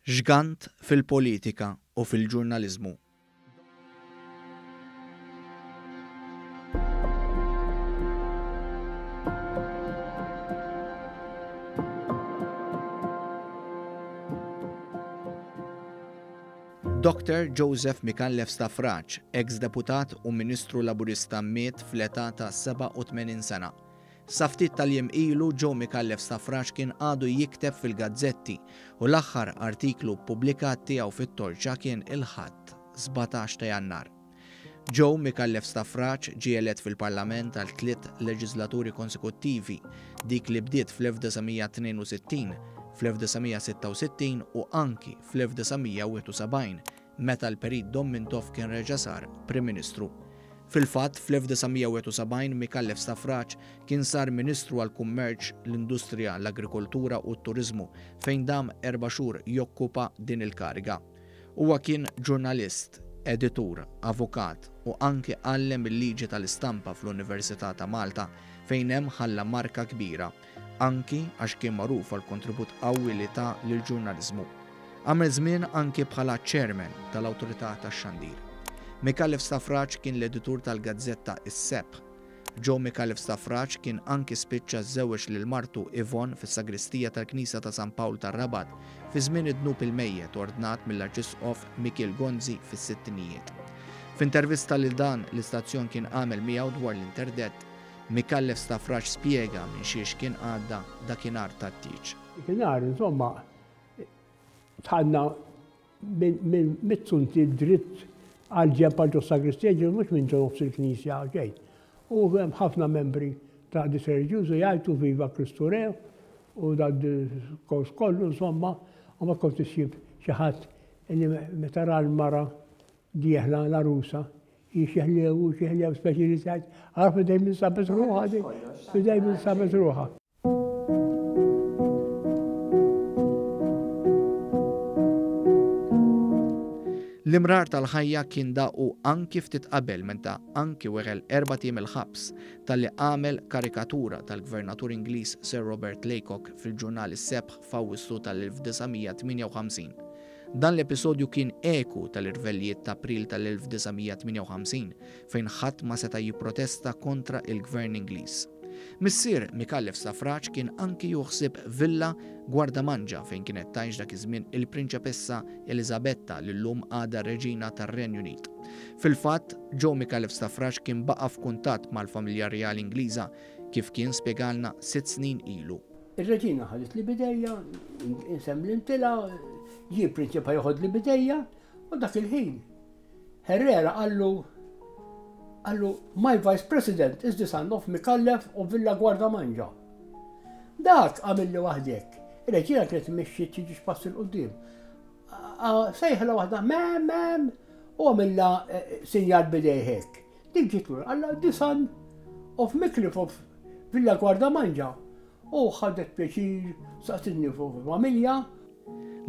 Ġgant fil-politika u fil-ġurnaliżmu. Dr. Joseph Micallef Stafrace, eks deputat u Ministru Laburista miet fl-età ta' 87 sena. Sa ftit tal-jiem ilu Joe Micallef Stafrace kien għadu jikteb fil-gazzetti u l-aħħar artiklu ppubblikat tiegħu fit-Torċa kien il-Ħadd, 17 ta' Jannar. Joe Micallef Stafrace ġie elett fil-Parlament għal tliet leġislaturi konsekuttivi, dik li bdiet fl-1962, fl-1966 u anki fl-1971 meta l-Perit Dom Mintoff kien reġa' sar Prim Ministru. Fil-fatt, fl-1971 Micallef Stafrace kien sar Ministru għall-Kummerċ, l-Industrija, l-Agrikoltura u t-Turiżmu fejn dam erba' xhur jokkupa din il-kariga. Huwa kien ġurnalist, editur, avukat u anki għallem il-liġi tal-istampa fl-Università ta' Malta fejn hemm ħalla marka kbira, anki għax kien magħruf għall-kontribut qawwi li ta lill-ġurnaliżmu. Għamel żmien anki bħala Chairman tal-Awtorità tax-Xandir. Micallef Stafrace kien l-editur tal-gazzetta Is-Sebħ. Joe Micallef Stafrace kien anki spiċċa żżewweġ lil martu Yvonne fis-sagristija tal-Knisja ta' San Pawl tar-Rabat fi żmien id-dnub il-mejjet ordnat mill-Arċisqof Mikiel Gonzi fis-sittinijiet. F'intervista lil dan l-istazzjon kien għamel miegħu dwar l-interdett, Micallef Stafrace spjega minn xiex kien għadda dakinhar tat-tieġ. Dakinhar, insomma, Dħalna minn mit-suntier dritt għal ġenb għal ġos-sagristija, ġifieri mhux minn ġo nofs il-knisja xejn. U hemm ħafna membri ta' għaqdiet reliġjużi jgħajtu Viva Kristu Re u dan diskors kollu insomma, u ma kont issib xi ħadd li meta ra l-mara dieħla l-għarusa hi xi ħlew u xi ħlew speċi li tgħid, ara f'idejn min sabet ruħha din, f'idejn min sabet ruħha. L-imrar tal-ħajja kien daqu anki ftit qabel meta anki weħel erbat ijiem il-ħabs talli għamel karikatura tal-Gvernatur Ingliż Sir Robert Laycock fil-ġurnal Is-Sebħ f'Awwissu tal-1958. Dan l-episodju kien eku tal-irvellijiet t'April tal-1958 fejn ħadd ma seta' jipprotesta kontra il-Gvern Ingliż. Missier Micallef Stafrace kien anki jieħu ħsieb villa Gwardamanġa fejn kienet tgħix dak iż-żmien il-Prinċepessa Eliżabetta li llum għadha r-Reġina tar-Renju Unit. Fil-fatt, Joe Micallef Stafrace kien baqa' f'kuntatt mal-familja rjali Ingliża kif kien spjegalna sitt snin ilu. Ir-Reġina ħaditli b'idejja, insemmlintilha, ġie l-Prinċep ħa joħodli b'idejja u dak il-ħin Herrera qallu qallu my vice president is the son of Micallef of Villa Guardamangia. Dak għamilli waħdek. Ir-reġina kienet mixxiet xi ġiex pass 'il quddiem. Sejħla waħda mem mem u għamilla eh, sinjal bidejh hekk. Dik ġiet lura qalla the son of Micallef of Villa Guardamangia. U ħadet pjaċir saqsitni fuq familja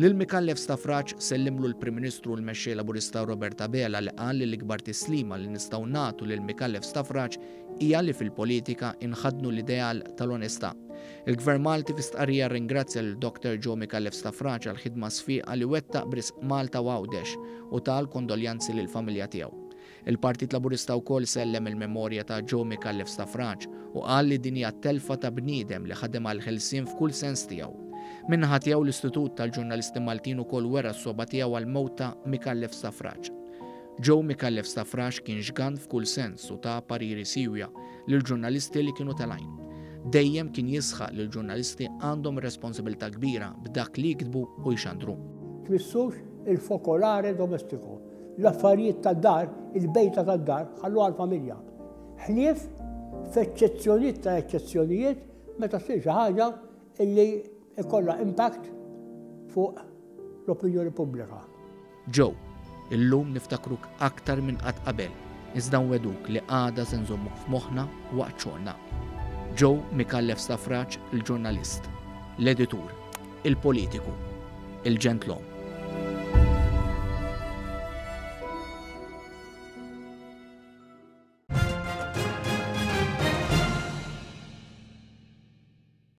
Lil Micallef Stafrace sellimlu l-Prim Ministru u l-Mexxej Laburista Robert Abela li qal li l-ikbar tislima li nistgħu nagħtu lil Micallef Stafrace hija li fil-politika inħaddnu l-ideal tal-onestà. Il-Gvern Malti fi stqarrija rringrazzja lil Dr Joe Micallef Stafrace għall-ħidma sfiqa li wettaq b'risq Malta u Għawdex u ta l-kondoljanzi lill-familja tiegħu. Il-Partit Laburista wkoll sellem il-memorja ta' Joe Micallef Stafrace u qal li din hija telfa ta' bniedem li ħadem għall-ħelsien f'kull sens tiegħu. Min-naħa tiegħu l-Istitut tal-Ġurnalisti Maltin ukoll wera s-sogħba tiegħu għall-mewt ta' Micallef Stafrace. Joe Micallef Stafrace kien ġgant f'kull sens u ta pariri siewja lill-ġurnalisti li kienu telgħin. Dejjem kien jisħaq li l-ġurnalisti għandhom responsabilità kbira b'dak li jiktbu u jxandru. Tmissux il-fokolare domestico. L-affarijiet tad-dar, il-bejta tad-dar, ħalluha għall-familja. Ħlief f'eċċezzjonijiet ta' eċċezzjonijiet meta ssir xi ħaġa illi ikollha impact fuq l-opinjoni pubblika. Joe, illum niftakruk aktar minn qatt qabel, iżda nwegħduk li għada se nżommuk f'moħħna waqt xogħolna. Joe Micallef Stafrace il-ġurnalist, l-editur, il-politiku, il-ġentlom.